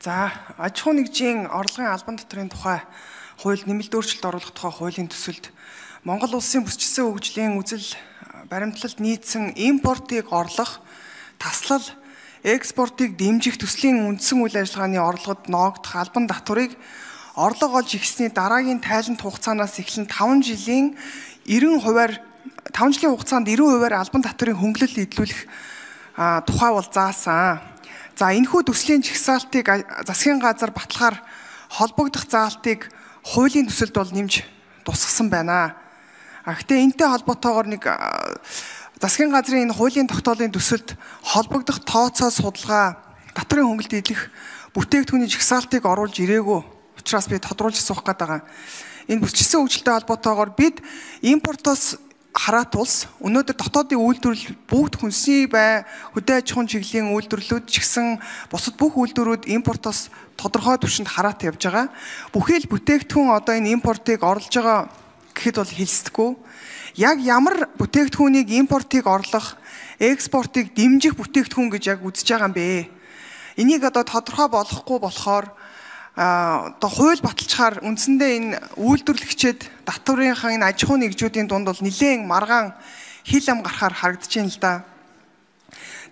За, аж ахуй нэгжийн орлогын албан татврын тухай хууль нэмэлт өөрчлөлт оруулах тухай хуулийн төсөлд Монгол улсын бүсчилсэн хөгжлийн үзэл баримтлалд нийцсэн импортыг орлох, таслал, экспортыг дэмжих төслийн үндсэн үйл ажиллагааны орлогод ноогдох албан татврыг орлого олж ихсний дараагийн тайлант хугацаанаас эхлэн 5 жилийн хугацаанд 90%-аар албан татврын хөнгөлөлт эдлүүлэх тухай бол заасан. За энэхүү төслийн жагсаалтыг засгийн газар баталгаар холбогдох заалтыг хуулийн төсөлд бол нэмж тусгасан байна. Гэхдээ энэтэй холбоотойгоор нэг засгийн газрын энэ хуулийн тогтоолын төсөлд холбогдох тооцоо судалгаа татврын хөнгөлөлт эдлэх бүтээгдэхүүний жагсаалтыг оруулж ирээгүй учраас би тодруулж асуух гээд байгаа. Энэ бүсчилсэн хөгжилтэй холбоотойгоор бид импортоос хараат улс өнөөдөр дотоодын үйлдвэрлэл бүгд хүнсний хөдөө аж ахуйн чиглэлийн үйлдвэрлэлүүд ч гэсэн бусад бүх үйлдвэрүүд импортоос тодорхой түвшинд хараат явж байгаа. Бүхий л бүтээгдэхүүн одоо энэ импортыг орлож байгаа гэхэд бол хэлсдэггүй. Яг ямар бүтээгдэхүүнийг импортыг орлох, экспортыг дэмжих бүтээгдэхүүн гэж яг үзэж байгаа юм бэ? Энийг одоо тодорхой болохгүй болохоор одоо хууль баталчаар үндсэндээ энэ үйлдвэрлэгчид татврынхаа энэ аж ахуй нэгжүүдийн дунд бол нэлээд маргаан хил ам гарахаар харагдаж байна л да.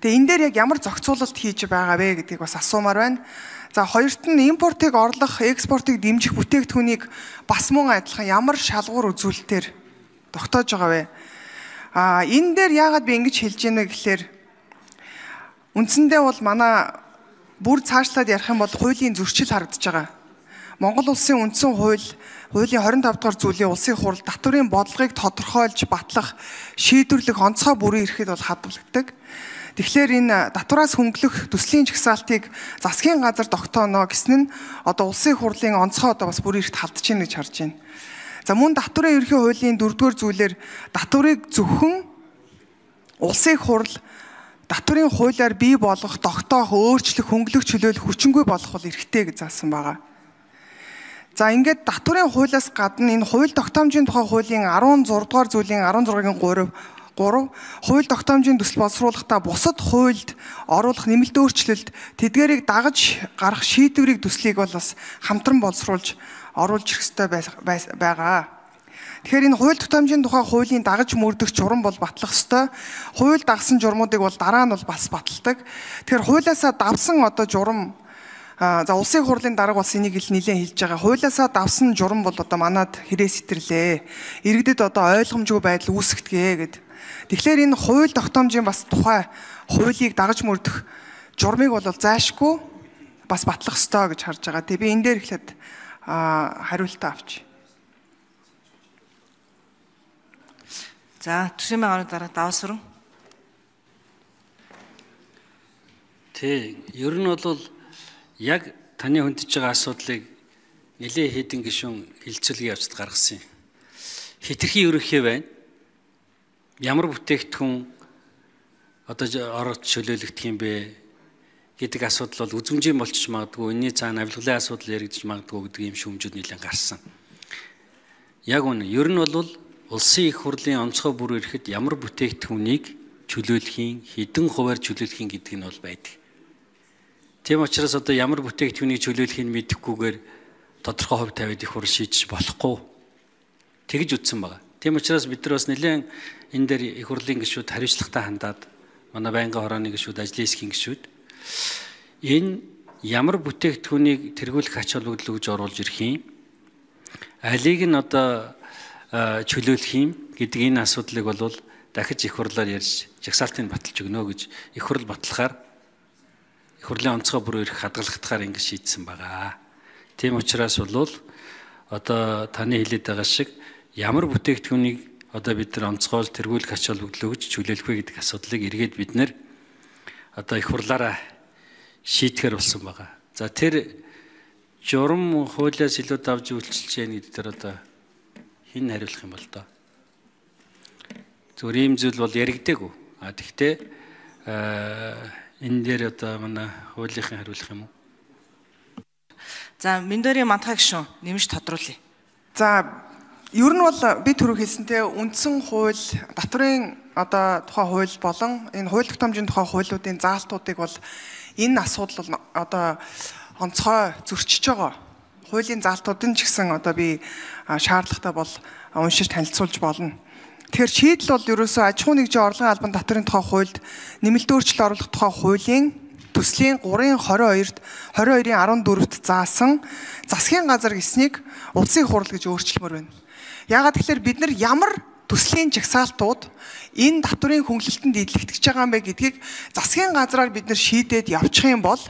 Тэгээ энэ дээр яг ямар зохицуулалт хийж байгаа вэ гэдгийг бас асуумаар байна. За хоёрт нь импортыг орлох, экспортыг дэмжих бүтээгдэхүүнийг бас мөн адилхан ямар шалгуур үзүүлэлтээр тогтоож байгаа вэ? Энэ дээр яагаад би ингэж хэлж байна гэхээр үндсэндээ бол манай бүр цаашлаад ярих юм бол хуулийн зөрчил харагдаж байгаа. Монгол улсын үндсэн хуулийн 25 дугаар зүйлийн улсын хурал татврын бодлогыг тодорхойлж батлах, шийдвэрлэх онцгой бүрийн эрхэд бол хадгалагддаг. Тэгэхээр энэ татвараас хөнгөлөх төслийн жагсаалтыг засгийн газар тогтооно гэсэн нь одоо улсын хурлын онцгой одоо бас бүрийн эрхт халдаж байна гэж харж байна. За мөн татврын ерхий хуулийн 4-р зүйлээр татврыг зөвхөн улсын хурал татврын хуулиар бий болгох, тогтоох, өөрчлөх, хөнгөлөх, чөлөөлөх хүчингүй болох бол эрхтэй гэж заасан байгаа. За ингээд татврын хуулиас гадна энэ хууль тогтоомжийн тухай хуулийн 16 дугаар зүйлийн 16-гийн 3 хууль тогтоомжийн төсөл боловсруулахдаа бусад хуульд оруулах нэмэлт өөрчлөлт тэдгээрийг дагаж гарах шийдвэрийг төслийг бол бас хамтран боловсруулж оруулж ирэх ёстой байгаа. Тэгэхээр энэ хууль тогтоомжийн тухай хуулийн дагаж мөрдөх журам бол батлах ёстой. Хууль дагсан журмуудыг бол дараа нь бол бас баталдаг. Тэгэхээр хуулиасаа давсан одоо журам за улсын хурлын дарга бас энийг нэлээд хэлж байгаа. Хуулиасаа давсан журам бол одоо манад хэрэг сэтэрлээ. Иргэдэд одоо ойлгомжгүй байдал үүсгэдэг гэд. Тэгэхээр энэ хууль тогтоомжийн бас тухай хуулийг дагаж мөрдөх журмыг бол зайшгүй бас батлах ёстой гэж харж байгаа. Тэгээ би энэ дээр эхлээд хариултаа авч. За, төсвийн байгууллагын дараа даваасран. Ер нь бол яг таны хөндөж байгаа асуудлыг нэлээд хэдэн гишүүн хилцүүлгийн явцад гаргасан юм. Хэтэрхий ерөнхий байна. Ямар бүтээгдэхүүн одоо ороод чөлөөлөгдөх юм бэ гэдэг асуудал бол үзмжийн болчих магадгүй, энэний цаана авилгалын асуудал яригдчих магадгүй гэдэг ийм шүүмжүүд нэлээд гарсан. Яг үнэ. Ер нь бол улсын их хурлын онцгой бүр ирэхэд ямар бүтээгдэхүүнийг чөлөөлөхийн, хэдэн хувиар чөлөөлөхийн гэдэг нь бол байдаг. Тийм учраас одоо ямар бүтээгдэхүүнийг чөлөөлөхийг мэдэхгүйгээр тодорхой хувь тавиад их хурл шийдэж болохгүй. Тэгж үтсэн байгаа. Тийм учраас бид нар бас нэлээд энэ дээр их хурлын гишүүд хариуцлагатай хандаад манай байнгын хорооны гишүүд, ажлын хэсгийн гишүүд энэ ямар бүтээгдэхүүнийг тэргүүлэх ач холбогдол өгж оруулж ирэх юм, алийг нь одоо чөлөөлөх юм гэдэг энэ асуудлыг бол дахиж их хурлаар ярьж жагсаалтыг баталж өгнө гэж их хурл батлахаар их хурлын онцгой бүр ирэх хадгалагдахаар ингэ шийдсэн байгаа. Тийм учраас бол одоо таны хэлээд байгаа шиг ямар бүтээгдэхүүнийг одоо бид нар онцгойл тэргүүлэх ач холбогдол өгж чөлөөлөх вэ гэдэг асуудлыг эргээд бид нар одоо их хурлаараа шийдэхэр болсон байгаа. За тэр журам хуулиас илүү давж үйлчилж яах гэдэг дээр одоо хин хариулах юм бол доо. Зүгээр ийм зүйл бол яригдээгүй. Тэгтээ энэ дээр одоо манай хуулийнхын хариулах юм уу? За, Миндорийн Мантхай гишүүн нэмж тодруулъя. За, ер нь бол би түрүү хэлсэнтэй үндсэн хууль, татврын одоо тухай хууль болон энэ хууль тогтоомжийн тухай хуулиудын заалтуудыг бол энэ асуудал одоо онцгой зөрчиж байгаа. Хуулийн заалтуудын ч гэсэн одоо би шаардлагатай бол уншиж танилцуулж болно. Тэгэхээр шийдэл бол ерөөсөө аж ахуй нэгжийн орлогын албан татврын тухай хуульд нэмэлт өөрчлөлт оруулах тухай хуулийн төслийн 3-22-д 22-14-т заасан засгийн газар гэснийг улсын хурал гэж өөрчлөмөр байна. Яагаад тэгэхээр бид нар ямар төслийн жагсаалтууд энэ татврын хөнгөлөлтөнд идэлэгдэж байгаа юм бэ гэдгийг засгийн газраар бид нар шийдээд явчих юм бол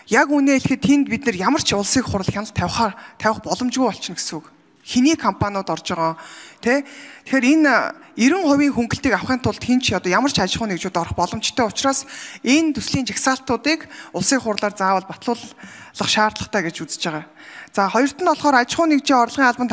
яг үнэ хэлэхэд тэнд бид нар ямар ч улсын хурал хяналт тавих боломжгүй болчихно гэсэн үг. Хиний компаниуд орж байгаа тий. Тэгэхээр энэ 90% хөнгөлтийг авахын тулд хин ч одоо ямар ч аж ахуй нэгжүүд орох боломжтой учраас энэ төслийн жагсаалтуудыг улсын хурлаар заавал батлуулах шаардлагатай гэж үзэж байгаа. За хоёрт нь болохоор аж ахуй нэгжийн орлогын албан